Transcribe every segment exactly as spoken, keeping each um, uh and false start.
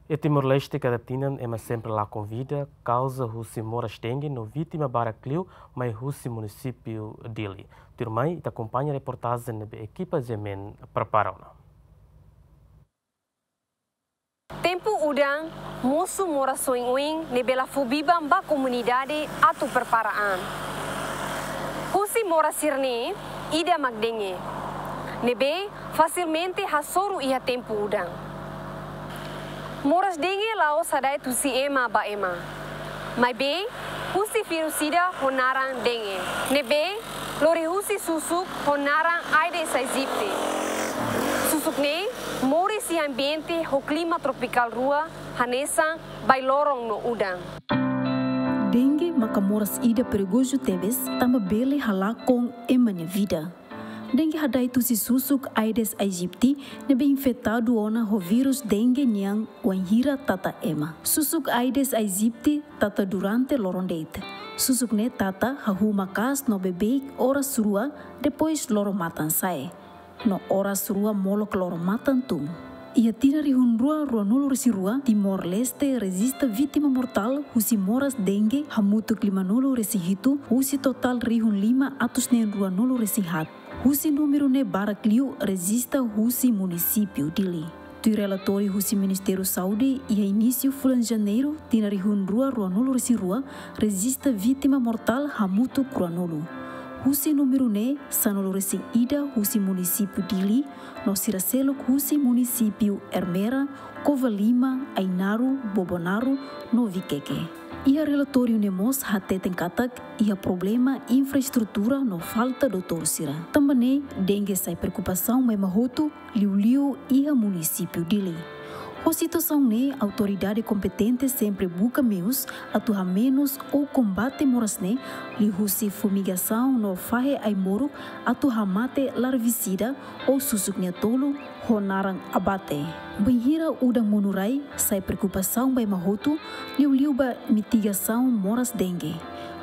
Iha Timor-Leste kada tinan ema sempre lakon vida kauza husi moras dengue no vítima barak liu mai husi munisípiu Dili. Tuirmai ita akompaña reportajen ne'ebé ekipa GMN prepara ona. Tempu udan mosu moras oioin ne'ebé la fó biban ba komunidade atu prepara an. Husi moras sira-ne'e, ida mak dengue, ne'ebé fasilmente hasoru iha tempu udan. Moras dengue la'ós hada'et husi ema ba ema, maibé husi vírus ida ho naran dengue, ne'ebé lori husi susuk ho naran Aedes aegypti. Susuk ne'e moris iha ambiente ho klima tropikál rua, hanesan bailoron no udan. Dengue maka moras ida perigozu tebes, tanba bele halakon ema nia vida. Dengue hada'et husi susuk Aedes aegypti ne'ebé infetadu ona ho vírus dengue nian wainhira tata ema. Susuk Aedes aegypti tata durante loron de'it. Susuk ne'e tata hahú maka'as no beibeik oras rua, depois loron-matan sa'e, no oras rua molok loron-matan tun. Iha tinan rihun rua ruanulu-resin-rua, Timor-Leste rejista vítima mortál husi moras dengue hamutuk limanulu-resin-hitu husi totál rihun lima atus neen ruanulu-resin-haat. Husi númeru ne'e barak liu rejista husi munisípiu Dili. Tuir relatóriu husi Ministériu Saúde, iha inísiu fulan Janeiru, tinan rihun rua ruanulu-resin-rua, rejista vítima mortál hamutuk ruanulu. Husi númeru ne'e, sanulu-resin-ida husi munisípiu Dili, no sira seluk husi munisípiu Ermera, Covalima, Ainaro, Bobonaro, no Viqueque. Iha relatóriu ne'e mós hateten katak iha problema infraestrutura no falta doutór sira. Tanba ne'e, dengue sai preokupasaun ba ema hotu, liuliu iha munisípiu Dili. Ho situasaun ne'e, autoridade kompetente sempre buka meius atu hamenus ou kombate moras ne'e, liuhusi fumigasaun no fahe ai-moruk atu hamate larvisida ou susuk nia tolu ho naran abate. Bainhira udan monu rai, sai preokupasaun ba ema hotu, liuliu ba mitigasaun moras dengue.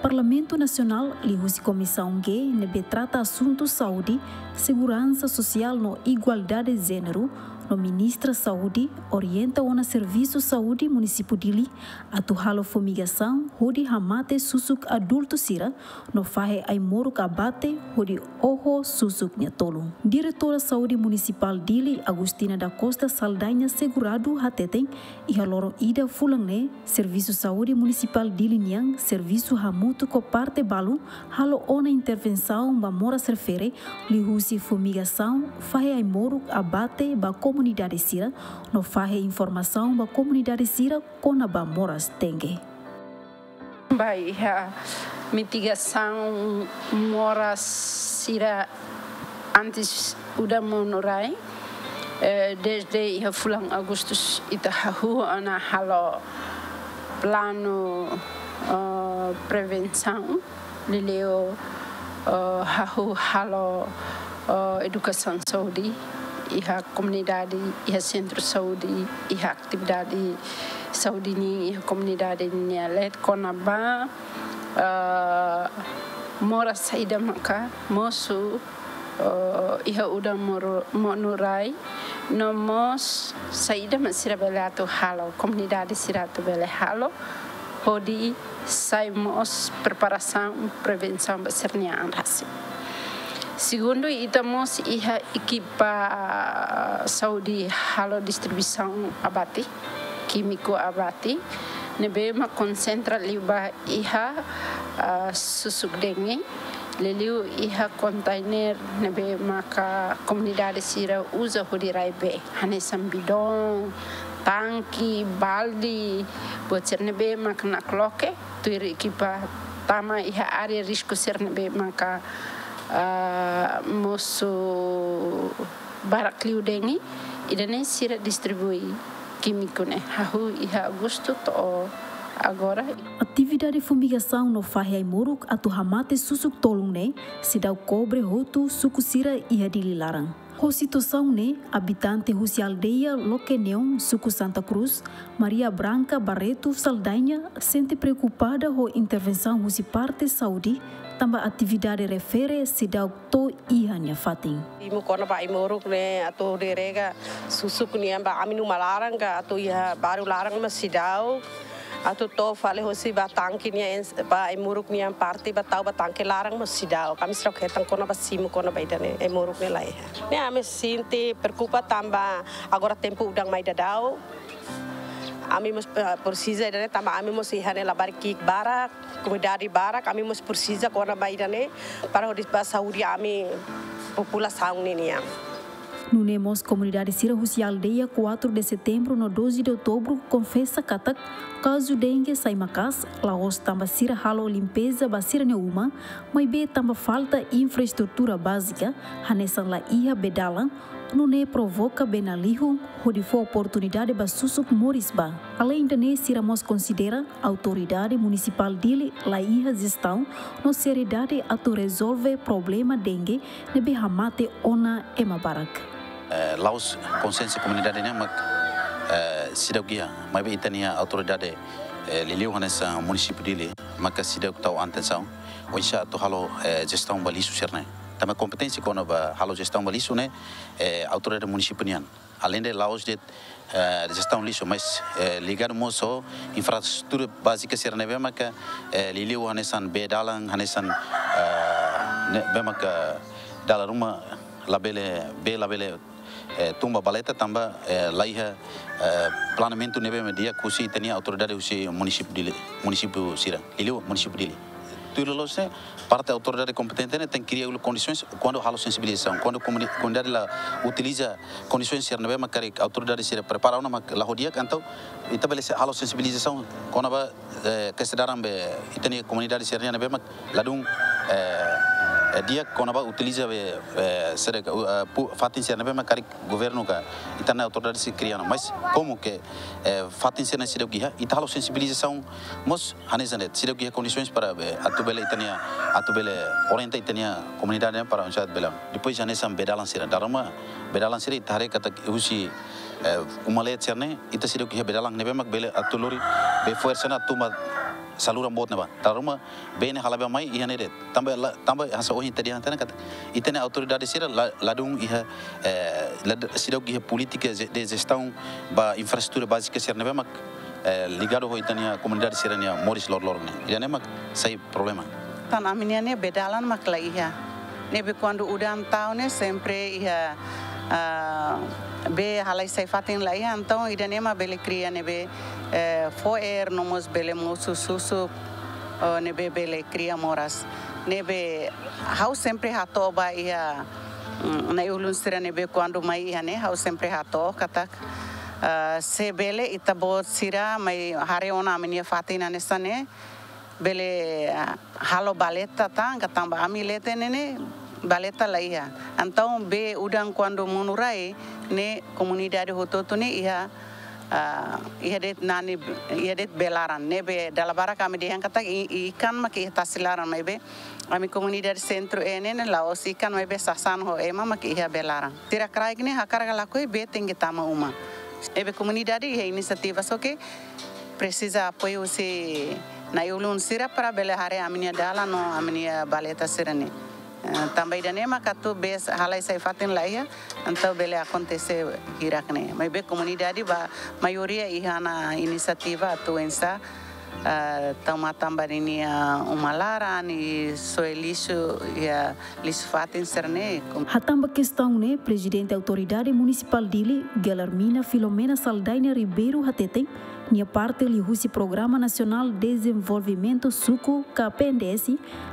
Parlamentu Nasionál, liuhusi Komisaun G ne'ebé trata asuntu saúde, seguransa sosiál no igualdade jéneru, no Ministra Saúde, orienta ona Servisu Saúde Munisípiu Dili atu halo fumigasaun hodi hamate susuk adultu sira, no fahe ai-moruk abate hodi oho susuk nia tolu. Diretora Saúde Munisipál Dili, Agostina da Costa Saldanha Segurado, hateten, iha loron ida fulan ne'e, Servisu Saúde Munisipál Dili nian servisu hamutuk ho parte balu halo ona intervensaun ba moras refere, liuhusi fumigasaun, fahe ai-moruk abate ba komunidade sira, no fahe informasaun ba komunidade sira kona-ba moras dengue. Ba iha mitigasaun moras sira antes udan monu rai, eh, desde iha fulan Agustus ita hahú ona halo planu, eh, prevensaun, liuliu, eh, hahú halo, eh, edukasaun saúde iha komunidade, iha sentru saúde, iha atividade saúde nian iha komunidade nian, leet kona-ba, eh, moras saida maka mosu, eh, iha udan moru-, monu rai, no mós saida mak sira bele atu halo, komunidade sira atu bele halo, hodi sai mós preparasaun, prevensaun ba sira-nia an rasik. Segundu, ita mós iha ekipa saúde halo distribuisaun abate, kímiku abate, ne'ebé mak konsentra liu ba iha, ah, susuk dengue, liuliu iha kontainer ne'ebé maka komunidade sira uza hodi rai bee, hanesan bidon, tanke, balde, buat sira ne'ebé maka nakloke, tuir ekipa tama iha área risku sira ne'ebé maka, ah, mosu barak liu dengue, ida-ne'e sira distribui kímiku ne'e, hahú iha Agostu to'o agora. Atividade fumigasaun no fahe ai-moruk atu hamate susuk tolun ne'e seidauk kobre hotu suku sira iha Dili laran. Ho situasaun ne'e, abitante husi aldeia Lokeneon, suku Santa Cruz, Maria Branca Barreto Saldanha, sente preokupada ho intervensaun husi parte saúde, tanba atividade refere seidauk to'o iha nia fatin. Simu kona-ba ai-moruk ne'e atu hodi rega susuk nian ba ami-nia uma laran ka atu iha bairru laran mós seidauk. Atu to'o fali hosi ba tangke nian, ba ai-moruk nian parte ba tau ba tangke laran mós seidauk. Ami seidauk hetan kona-ba simu kona-ba ida-ne'e, ai-moruk ne'e laiha. Ne'e ami sente preokupa tanba agora tempu udan mai daudaun. Ami mós, eh, presiza ida-ne'e tanba ami mós iha ne'e labarik ki'ik barak, komunidade barak, ami mós presiza kona-ba ida-ne'e para hodi ba saúde ami populasaun ne'e nian. Nune'e mós komunidade sira husi aldeia quatro de Setembro no doze de Outubro konfesa katak kazu dengue sai maka'as, la'ós tanba sira halo limpeza ba sira-nia uma, maibé tanba falta infraestrutura bázika, hanesan laiha bee-dalan, nune'e provoka bee-nalihun hodi fó oportunidade ba susuk moris ba. Aleinde ne'e, sira mós konsidera autoridade munisipál Dili laiha jestaun no seriedade atu rezolve problema dengue ne'ebé hamate ona ema barak. Eh, la'ós konsiénsia komunidade nian mak, eh, seidauk iha, maibé ita-nia autoridade, eh, liuliu hanesan munisípiu Dili, maka seidauk tau atensaun oinsá atu halo, eh, jestaun ba lixu sira-ne'e. Tanba kompeténsia kona-ba halo jestaun ba lixu ne'e, eh, autoridade munisípiu nian. Aleinde la'ós de'it, eh, jestaun lixu, mas, eh, ligadu mós ho infraestrutura bázika sira ne'ebé maka, eh, liuliu hanesan bee-dalan, hanesan, eh, ne'ebé maka dala ruma labele, bee labele, eh, tun ba valeta tanba, eh, laiha, eh, planeamentu ne'ebé mak di'ak husi ita-nia autoridade husi munisípiu Dili, munisípiu sira, liuliu munisípiu Dili. Tuir loloos ne'e, parte autoridade kompetente ne'e tenke kria ulang kondisaun kuandu halo sensibilizasaun. Kuandu komuni-, komunidade la utiliza kondisaun sira ne'ebé mak karik autoridade sira prepara ona mak la ho di'ak, entaun ita bele se-, halo sensibilizasaun kona-ba, eh, kestaun daran be ita-nia komunidade sira ne'ebé mak ladún, eh, eh, di'ak kona-ba utiliza be, eh, sira, eh, pu-, fatin sira ne'ebé mak karik governu ka ita-nia autoridade sira kria ona. Mas komu ke, eh, fatin sira seidauk iha, ita halo sensibilizasaun mós hanesan de'it, seidauk iha kondisaun para be, atu bele ita-nia, atu bele orienta ita-nia komunidade para oinsá bele. Depois hanesan bee-dalan sira, dala ruma bee-dalan sira ita haree katak husi, eh, uma-leet sira-ne'e, ita seidauk iha bee-dalan ne'ebé mak bele atu lori bee fo'er sira-ne'e atu ba saluran boot ne'ebá. Dala ruma bee ne'e hale'an ba mai iha ne'e de'it. Tanba la, tanba hanesan ohin ita dehan tiha ona katak ita-nia autoridade sira la, ladún iha, eh, lad-, seidauk iha polítika je-, de jestaun ba infraestrutura bázika sira ne'ebé mak, eh, ligadu ho ita-nia komunidade sira-nia moris loroloron ne'e. Ida-ne'e mak sai problema. Tan ami-nia ne'e bee-dalan mak laiha. Ne'ebé kuandu udan tau ne'e sempre iha, ah, bee halai sai fatin laiha, entaun ida-ne'e mak bele kria ne'ebé, eh, fo'er no mós bele mosu susuk, oh, ne'ebé bele kria moras. Ne'ebé ha'u sempre hato'o ba iha, mm, na'i-ulun sira ne'ebé kuandu mai iha ne'e, ha'u sempre hato'o katak, ah, se bele ita-boot sira mai haree ona ami-nia fatin hanesan ne'e, bele, ah, halo valeta tan, ka tanba ami leten ne'e ne'e valeta laiha. Entaun bee udan kuandu monu rai ne'e komunidade hotu-hotu ne'e iha, ah, iha de'it nani, iha de'it bee-laran. Ne'ebé dala barak ami dehan katak i-, ikan mak iha tasi laran maibé ami komunidade sentru ne'e ne'e la'ós ikan maibé sasán ho ema mak iha bee-laran. Sira kraik ne'e hakarak ka lakohi bee tenke tama uma. Ne'ebé komunidade iha inisiativa só ke presiza apoiu husi na'i-ulun sira para bele haree ami-nia dalan no ami-nia valeta sira-ne'e. Eh, tanba ida-ne'e mak atu bee halai sai fatin laiha, entaun bele akontese hirak-ne'e. Maibé komunidade ba maioria iha ona inisiativa atu oinsá, eh, tau matan ba ninia uma laran, i soe lixu, iha lixu fatin sira-ne'e. Hatán ba kestaun ne'e, Prezidente Autoridade Munisipál Dili, Guilhermina Filomena Saldanha Ribeiro hateten, nia parte liuhusi Programa Nasionál Dezenvolvimentu Suku ka P N D S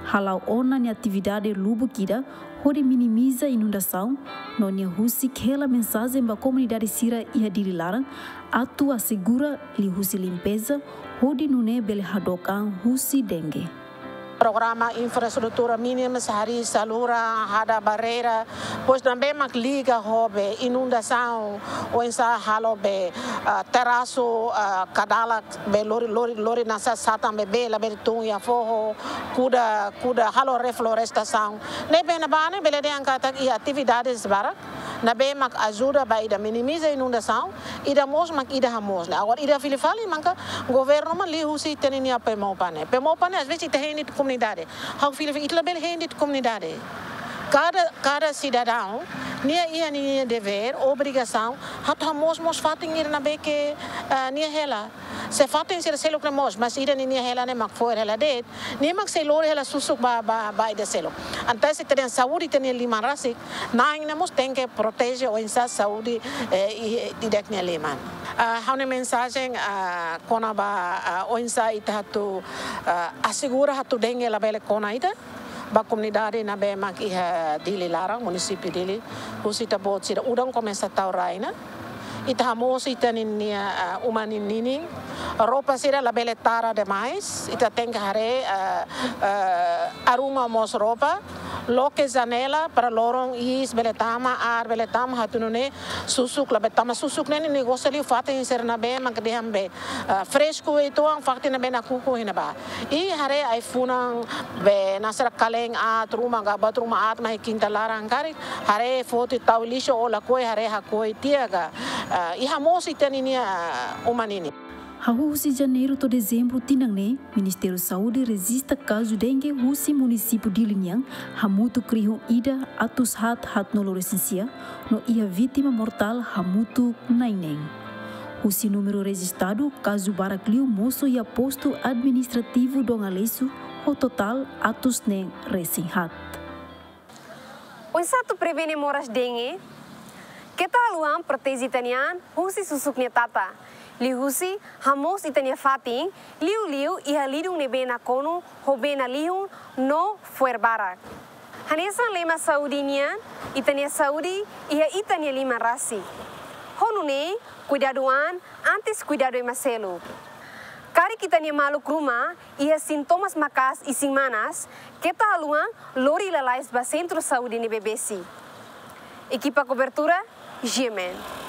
hala'o ona nia atividade lubuk ida hodi minimiza inundasaun, no nia husik hela mensajen ba komunidade sira iha Dili laran atu asegura liuhusi limpeza, hodi nune'e bele hadook an husi dengue. Programa infraestrutura mínima, harii saluran, hada barreira, pois também mak liga ho be inundasaun, oinsá halo be, ah, terasu, ah, kadala be lori, lori, lori nasa satan be bee labele tun iha foho, kuda, kuda halo reflorestasaun. Ne'ebé ne'ebá ne'e bele dehan katak iha atividades barak, Ne'ebé mak ajuda ba ida minimiza inundasaun, ida mós mak ida hamoos ne'e. Agora ida fila fali maka governu mak liuhusi ita-nia PMOPA ne'e. PMOPA ne'e às vezes ita hein de'it komunidade. Ha'u fila fali ita labele hein de'it komunidade. Kada, kada sidadaun nia iha ninia devér, obrigasaun, atu hamoos mós fatin ida ne'ebé ke, ah, nia hela. Se fatin sira seluk ne'e moos, mas ida ninia hela ne'e mak fo'er hela de'it, nia mak sei lori hela susuk ba, ba, ba ida seluk. Entaun se ita dehan saúde ita-nia liman rasik, na'in ne'e mós tenke proteje oinsá saúde, eh, i, i ida-idak nia liman. Ah, ha'u-nia mensajen, ah, kona-ba, ah, oinsá ita atu, ah, asegura atu dengue labele kona ita, ba komunidade ne'ebé mak iha Dili laran, munisípiu Dili, husi ita-boot sira udan komesa tau rai ona. Ita hamoos ita-nia, ah, uma ninin, roupa sira labele tara demais, ita tenke haree, ah, ah, arruma mós roupa, loke janela para loron iis bele tama, ar bele tama, atu nune'e susuk labele tama. Susuk ne'e nia gosta liu fatin sira ne'ebé mak dehan be, ah, fresku uitoan, fatin ne'ebé nakukun iha ne'ebá. I haree ai-funan be nasara kalen aat ruma ka buat ruma aat mai kinta laran karik, haree foti tau lixu ou lakohi, haree hakoi tiha ka, ah, i hamoos ita-nia, ah, uma ninin. Hahú husi Janeiru to'o Dezembru tinan ne'e, Ministériu Saúde rejista kazu dengue husi munisípiu Dili nian hamutuk rihun ida atus haat haatnulu resin sia, no iha vítima mortál hamutuk na'in neen. Husi númeru rejistadu, kazu barak liu mosu iha postu administrativu Dom Aleixo, ho totál atus neen resin haat. Oinsá atu prevene moras dengue? Keta haluha proteje ita-nia an husi susuk nia tata. Liuhusi hamoos ita-nia fatin, liuliu iha lidun ne'ebé nakonu ho bee nalihun no fo'er barak. Hanesan lema saúde nian, ita-nia saúde iha ita-nia liman rasik. Ho nune'e, kuidadu an antes kuidadu ema seluk. Karik ita-nia maluk ruma iha sintomas maka'as isin-manas, keta haluha lori lalais ba sentru saúde ne'ebé besik. Ekipa kobertura, G M N.